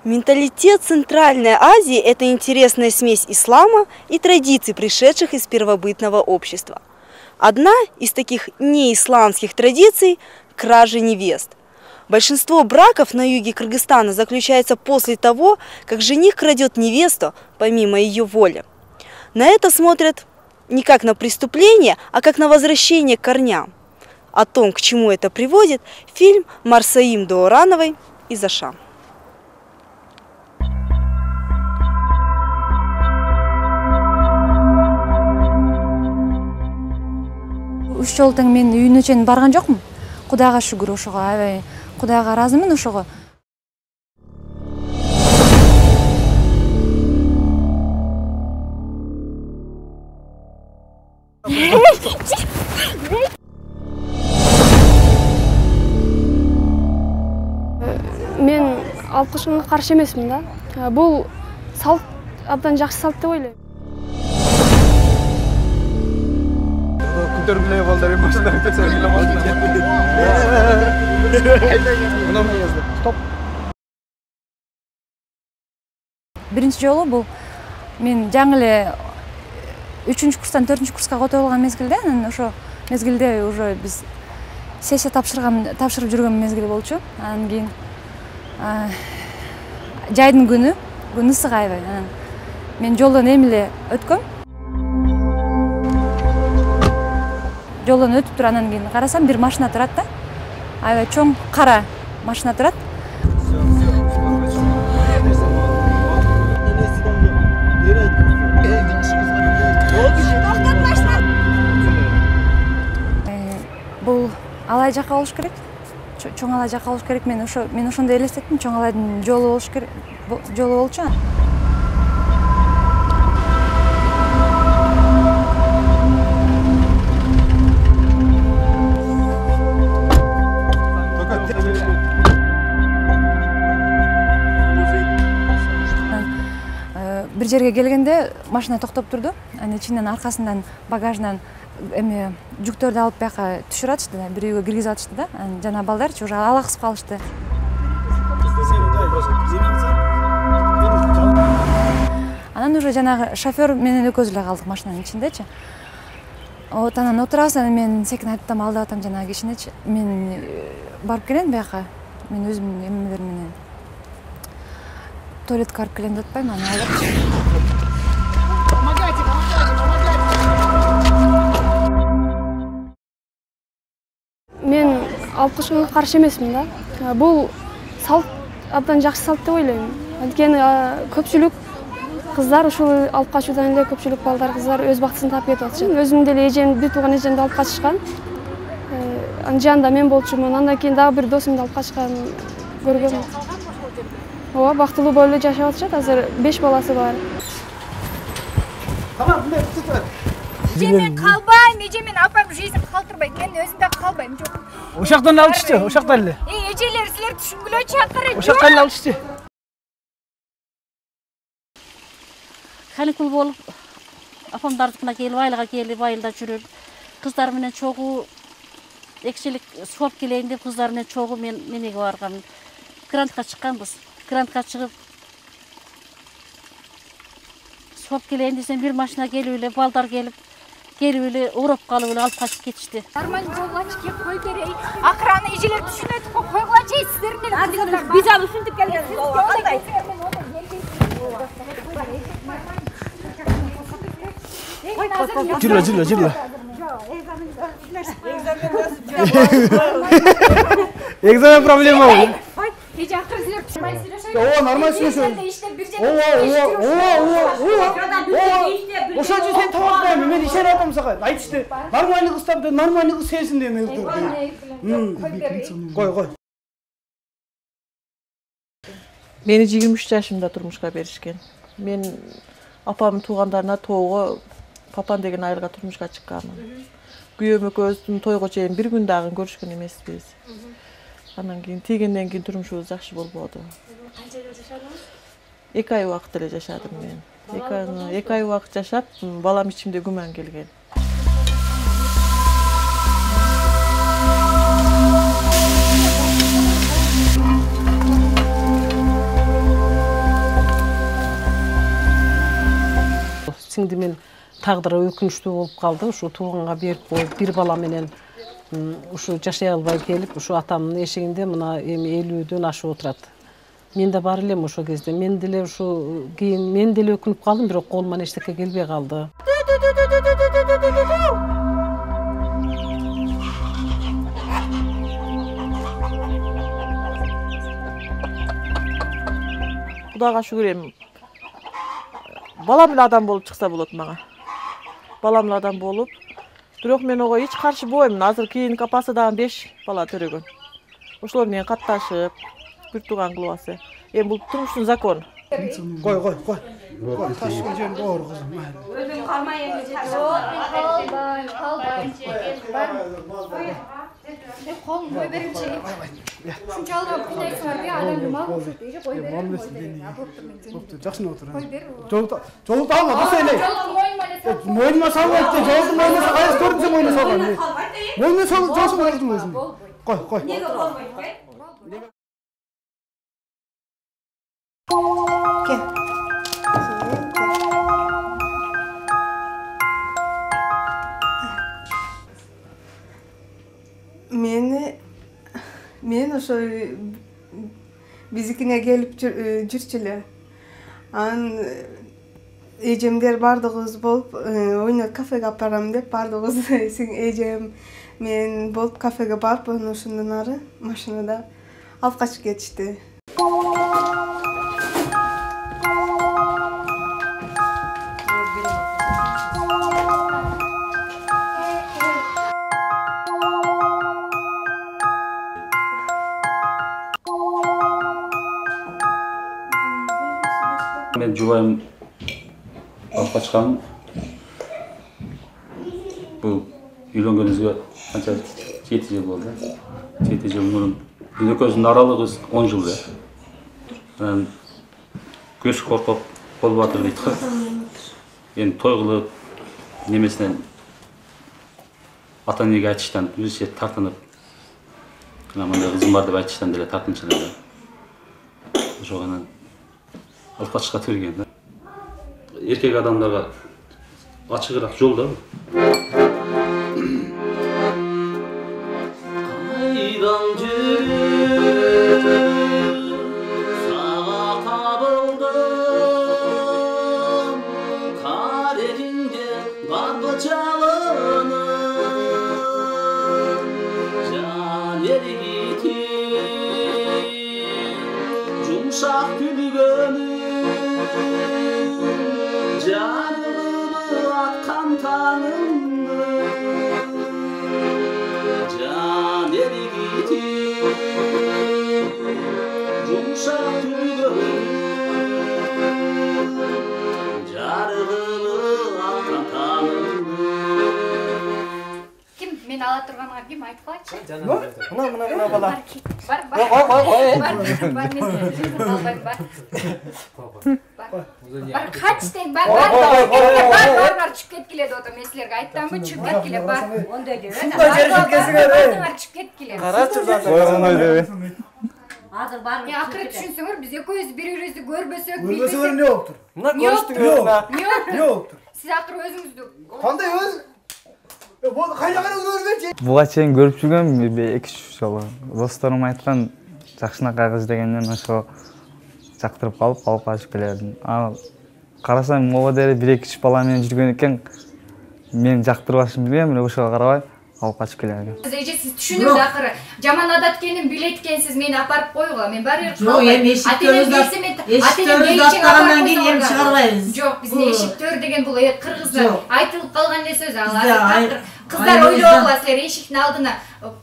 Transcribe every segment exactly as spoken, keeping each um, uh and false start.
Менталитет Центральной Азии – это интересная смесь ислама и традиций, пришедших из первобытного общества. Одна из таких неисламских традиций – кража невест. Большинство браков на юге Кыргызстана заключается после того, как жених крадет невесту помимо ее воли. На это смотрят не как на преступление, а как на возвращение к корням. О том, к чему это приводит, фильм Марсаим Доорановой «Из Аша». Үч жол тең мен үйүнө чейин барган жокмун. Кудайга шүгүр ошого, аябай Кудайга ыраазымын ошого. Мен алып качканга каршы эмесмин да. Бул салт абдан жакшы салт деп ойлойм. Көргүлөй балдар машина көтөрүлө машина. Стоп. Биринчи жолу бул мен жаңы эле үчүнчү курстан төртүнчү курска которулган мезгилде, анан ошо мезгилде уже биз сессия тапшырган, тапшырып жүргөн мезгил болчу. Анан кийин жайдын күнү, күн ысык аябай. Анан мен жолдон эмиле өткөм. Жолдон өтүп туруп анан кийин карасам, бир машина турат да. Аябай чоң кара машина турат. Бул алай жака болуш керек. Чоң алай жака болуш керек. Мен ошо мен ошондой элестеттим. Чоң алайдын жолу болуш керек. Жолу болчу. Бир жерге келгенде машина токтоп турду. Анын ичинен аркасынан багажынан эме жүктөрдү алып бияка түшүрүп атышты да, бир үйгө киргизип атышты да. Анан жана балдарчы уже алаксып калышты. Анан уже жанагы шофер менен экөөбүз эле калдык машинанын ичиндечи. Вот анан отурабыз, анан мен секин айттым, алдап атам жанагы кишинечи. Мен барып келем бияка. Мен өзүмдүн эмелер менен туалетке барып келем деп атпаймынбы, аны алып. Мен алып качканга каршы эмесмин да. Бул салт абдан жакшы салт деп ойлойм. Анткени көпчүлүк кыздар ушул алып качуудан эле көпчүлүк балдар, кыздар өз бактысын таап кетип атышат. Өзүм деле эжем, бир тууган эжемди алып качышкан. Анын жанында мен болчумун. Андан кийин дагы бир досумду алып качкан көргөм. Ооба, бактылуу болуп эле жашап атышат. Азыр беш баласы бар. Тамам, мындай түтүп. Эжемен калбайм, эжемен апам жизнь калтырбайт. Мен өзүм да калбайм, жок. Ошоктон алышчы, ошоктон эле. Эй, эжелер, силер түшүнгүлөчү акыры. Ошоктон эле алышчы. Каникул болуп, апамдардыкына келип, айылга келип, айылда жүрүп, кыздар менен чогуу экчилик сууап келейин деп кыздар менен чогуу мен немеге баргам. Грантка чыкканбыз. Грантка чыгып сууап келейин десем, бир машина келип эле, балдар келип, келип эле уурап калып эле алып качып кетишти. Нормально болгачы, кеп кой берейин. Акыраны эжелер түшүнөт, койгулачы, сиздердин эле. Биз аны ушинтип келгенбиз. Кандай? Жүрө, жүрө, жүрө. Экзамен проблема болду. Эже акыры силер түшүнбөйсүздөр. Ооба, нормально сүйлөшөбүз. Ооба, ооба, ооба, ооба. Ошончу сен табатпайм, мен ишенип атам сага. Айтышты. Нормальный кыз тапты, нормальный кыз сенсиң деп мен. Кой, кой. Мени жыйырма үч жашымда турмушка беришкен. Мен апамдын туугандарына тоого папан деген айылга турмушка чыкканмын. Күйөөм экөөбүздүн тойго чейин бир күн дагы көрүшкөн эмеспиз. Анан кийин тийгенден кийин турмушубуз жакшы болбоду. Канча жыл жашадыңыз? эки ай убакыт эле жашадым мен. эки ай убакыт жашап, балам ичимде күмөн келген. тагдыры өкүнүчтүү болуп калды. Ушу тууганга берип коюп, бир бала менен ушу жашай албай келип, ушу атамдын эшигинде мына эми элүүдөн ашып отурат. Мен да бар элем ошол кезде. Мен деле ушу кийин мен деле өкүнүп калдым, бирок колуман эчтеке келбей калды. Кудайга шүгүр эми. Балам эле адам болуп чыкса болот мага. Балам эле адам болуп, бирок мен ого эч каршы болбоймун. Азыр кийинки апасы дагы беш бала төрөгөн. Ошолор менен катташып, бир тууган кылып алса. Эми бул турмуштун закону. Кой, кой, кой. Кой, ташкын жер боор кызым. Өзүм кармай эми калбай, калбай. Колун кой беринчи. Ушунча алдырып кыйнайсыңарбы, адамды мал болсот дейли, кой берин. Боптур, жакшы отур. Кой бер. Жолду, жолду алма, баса эле. Жолду мойнума эле сал. Мойнума салбайт, жолду мойнума кайсы көрүнсө мойнума салган. Мойнума сал, жолсун көрдүм өзүм. Кой, кой. Неге болбойт, кой? Meni men ошо bizikine келип жүрчүлөр. Анан эжемдер бардыгыбыз болуп, ойнойт, кафеге алып барам деп бардыгыбыз эжем мен болуп кафеге барып, анан ошондон ары машинада алып качып кетишти. Мен жубайым алып качкан. Бул үйлөнгөнүбүзгө канча жети жыл болду. жети жыл мурун биз экөөбүздүн аралыгыбыз он жыл да. Анан көз коркоп болуп атыр дейт го. Эми той кылып немесинен ата энеге айтыштан өзүнчө тартынып, мындай кызым бар деп айтыштан деле тартынчылар да. Ошого анан алып качышка берген да. Эркек адамдарга ачыгыраак жол да. Кайдан жүрүп сага табылдым, карегиңде барбы жалыным, жан эригитип жумшак күлгөнүм, жарыгымы аткан таңымды, жан эригитип жумшак күлгөнүм, жарыгымы аткан таңымды. Ким мен ала турганга ким айтып койчу? Мына мына мына бала. Бар, бар. Ой, ой, ой. Бар, бар, мен албайм, бар. Бар, кач дейм, бар, бар. Бар, бар, бар, чыгып кеткиле деп атам. Мен силерге айттымбы, чыгып кеткиле, бар. Ондай деп. Сундай жерге келсеңер, эй. Чыгып кеткиле. Карачы зат. Ойгоной деп. Азыр бар. Мен акыры түшүнсөңөр, биз экөөбүз бири-бирибизди көрбөсөк, Көрбөсөңөр эмне болуптур? Мына көрүштүңөр. Эмне болуптур? Сиз акыры өзүңүздү. Кандай өз? Бул кайда карап көргөнчү? Буга чейин көрүп жүргөм, эки үч жолу. Досторум айткан жакшынакай кыз дегенден ошо жактырып калып, алып качып келдим. А карасам, могу деле бир эки үч бала менен жүргөн экен. Мен жактырбашын билбейм, эле ошого карабай алып качып келген. Эже сиз түшүнүңүз акыры. Жаман адат экенин билет экенсиз, мени апарып койгула. Мен баары бир Жок, эми эшиктөрүбүздү чыгаргандан кийин эми чыгарбайбыз. Жок, биздин эшиктөр деген бул кыргызда айтылып калган эле сөз. Ал кыздар ойлогула, силер эшиктин алдына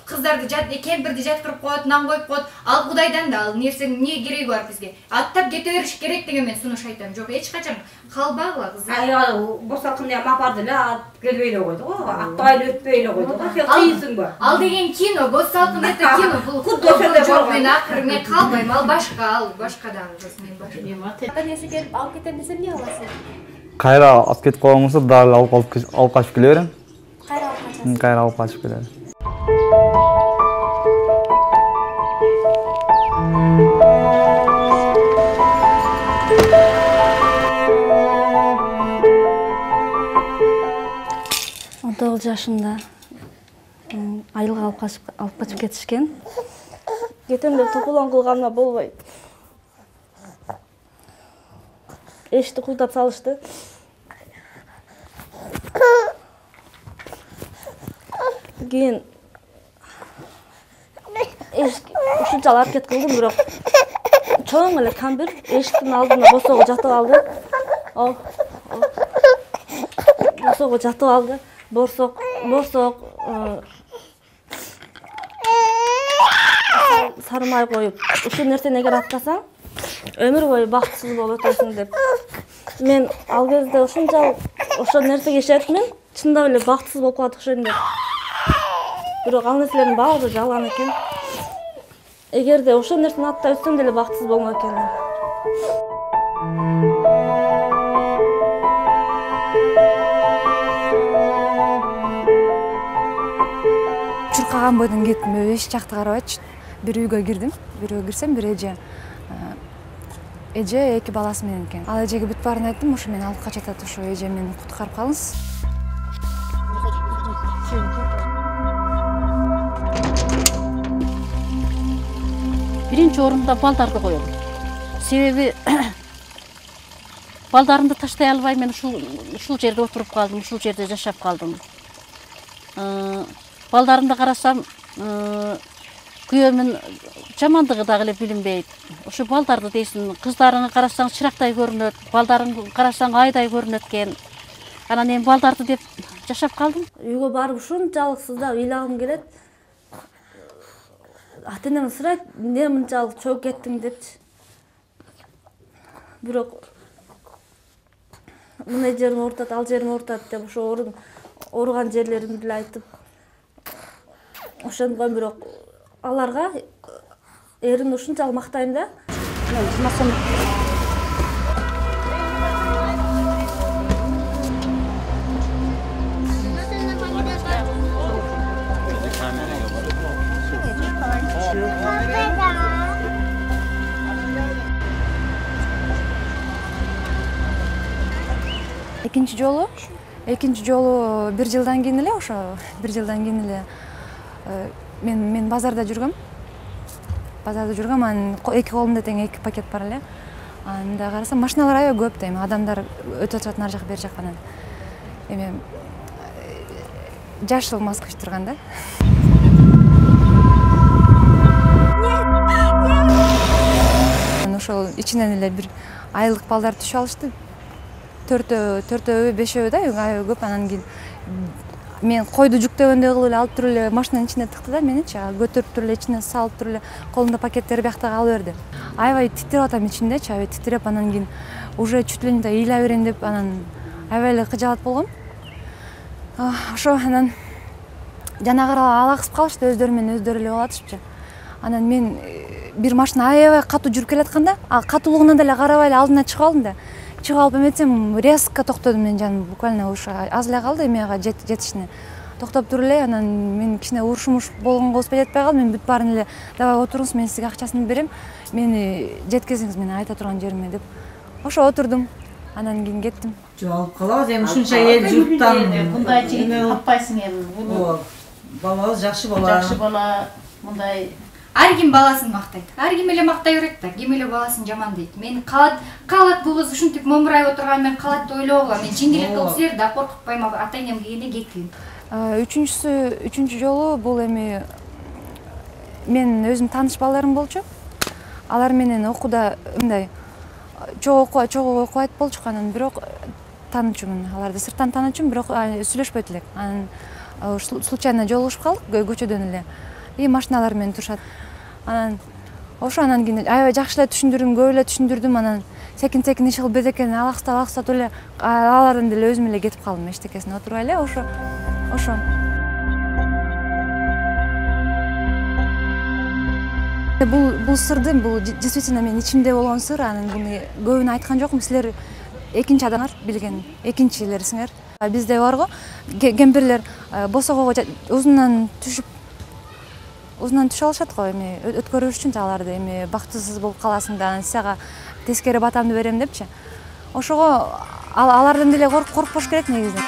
кыздарды жат, кемпирди жаткырып коет, нан коюп коет. Ал Кудайдан да, ал нерсенин эмне кереги бар бизге? Аттап кете бериш керек деген мен сунуш айтам. Жок, эч качан калбагыла кыздар. Ай, босалкында эми апарды эле ат келбей эле койду го. Атпай эле өтпөй эле койду го. Сен кыйынсыңбы? Ал деген кино, босалкын это кино. Бул кудда ошондой жок, мен акыры мен калбайм. Ал башка, ал башка дагы кыз, мен башка. Ата энеси келип алып кетем десе эмне кыласың? Кайра алып кетип калган болсо, дагы алып алып качып келе берем. Кайра алып качасың? Кайра алып качып келе берем. жашымда айылга алып качып алып качып кетишкен. Кетем деп тополоң кылганга болбой эшикти куйдап салышты. Кийин эшик ушунчалык аракет кылдым, бирок чоң эле камбир эшиктин алдына босого жатып алды. О, босого жатып алды. Борсок, борсок сармай коюп, ушул нерсени эгер аткасаң, өмүр бою бактысыз болуп өтөсүң деп. Мен ал кезде ушунчалык ошол нерсеге ишенип, мен чындап эле бактысыз болуп калат окшойм деп. Бирок ал нерселердин баары жалган экен. Эгерде ошол нерсени аттай өтсөм деле бактысыз болмок экенмин. Чуркаган бойдон кеттим, эч жакты карабайчы. Бир үйгө кирдим. Бир үйгө кирсем, бир эже эже эки баласы менен экен. Ал эжеге бүт баарын айттым, ошо мени алып качат, ошо эже мени куткарып калыңыз. Биринчи орунда балдарды коем. Себеби балдарымды таштай албай мен ушул ушул жерде отуруп калдым, ушул жерде жашап калдым. Балдарымды карасам, күйөөмүн жамандыгы дагы эле билинбейт. Ошо балдарды дейсиң, кыздарыңы карасаң чырактай көрүнөт, балдарыңды карасаң айдай көрүнөт экен. Анан эми балдарды деп жашап калдым. Үйгө барып ушунчалык сыздап ыйлагым келет. Ата-энем сурайт, эмне мынчалык чогуп кеттиң депчи. Бирок мына жерим оорутат, ал жерим оорутат деп ошо ооруган жерлеримди эле айтып ошондой, бирок аларга эрин ушунчалык мактайм да. Экинчи жолу, экинчи жолу бир жылдан кийин эле, ошо бир жылдан кийин эле мен мен базарда жүргөм. Базарда жүргөм, анан эки колумда тең эки пакет бар эле. Анда карасам машиналар аябай көп да, эми адамдар өтүп атышат нар жак бер жаккан. Эми жашыл Москвич турган да. Ошол ичинен эле бир айылдык балдар түшүп алышты. Төртөө, төртөө, бешөө да, аябай көп. Анан кийин мен койду жүктөгөндөй кылып эле алып туруп эле машинанын ичине тыкты да, меничи көтөрүп туруп эле ичине салып туруп эле колунда пакеттери бияктагы алып берди. Аябай титирип атам ичиндечи, аябай титирип, анан кийин уже чуть ли не ыйлай берейин деп анан аябай эле кыжаалат болгом. Ошо анан жанагы ала кысып калышты, өздөрү менен өздөрү эле болатышпы. Анан мен бир машина аябай катуу жүрүп келатканда, катуулугуна деле карабай эле алдына чыгып алдым да. Чыгып алып эметсем резко токтодум, мен жаным буквально ушу аз эле калды эмега жетишине. Токтоп туруп эле анан мен кичине урушмуш болгонго успай жетпей калдым. Мен бүт баарын эле давай отуруңуз, мен сизге акчасын берем, мени жеткизиңиз мен айта турган жериме деп. Ошо отурдум. Анан кийин кеттим. Жок, алып калабыз эми ушунча эл журттан. Мындай жигитти таппайсың эми. Буну балабыз жакшы бала. Жакшы бала, мындай Ар ким баласын мактайт. Ар ким эле мактай берет да, ким эле баласын жамандайт. Мен калат, калат бул кыз ушинтип момурайып отурган, мен калат деп ойлоп алам. Мен жеңилдик кылып силер да коркутпайм, ата-энем келгенде кеткин. Үчүнчүсү, үчүнчү жолу бул эми мен өзүм тааныш балдарым болчу. Алар менен окууда мындай чогуу окуу, чогуу окубайт болчук, анан бирок таанычумун. Аларды сырттан таанычумун, бирок сүйлөшпөйт элек. Анан случайно жолугушуп калдык көчөдөн эле. И машиналар менен турушат. Анан ошо анан кийин аябай жакшы эле түшүндүрдүм, көп эле түшүндүрдүм. Анан секин-секин иш кылып бетекени алаксытап алаксытап эле алардан деле өзүм эле кетип калдым, эчтекесине отурбай эле. Ошо ошо бул бул сырды, бул действительно мен ичимде болгон сыр. Анан буну көбүнө айткан жокмун. Силер экинчи адамдар билген, экинчилерсиңер. Бизде бар го, кемпирлер босогого узунан түшүп Узунан түшүп алышат го, эми өткөрүш үчүн аларды, эми бактысыз болуп каласың да, анан сага тескери батамды берем депчи. Ошого алардан деле коркпош керек негизи.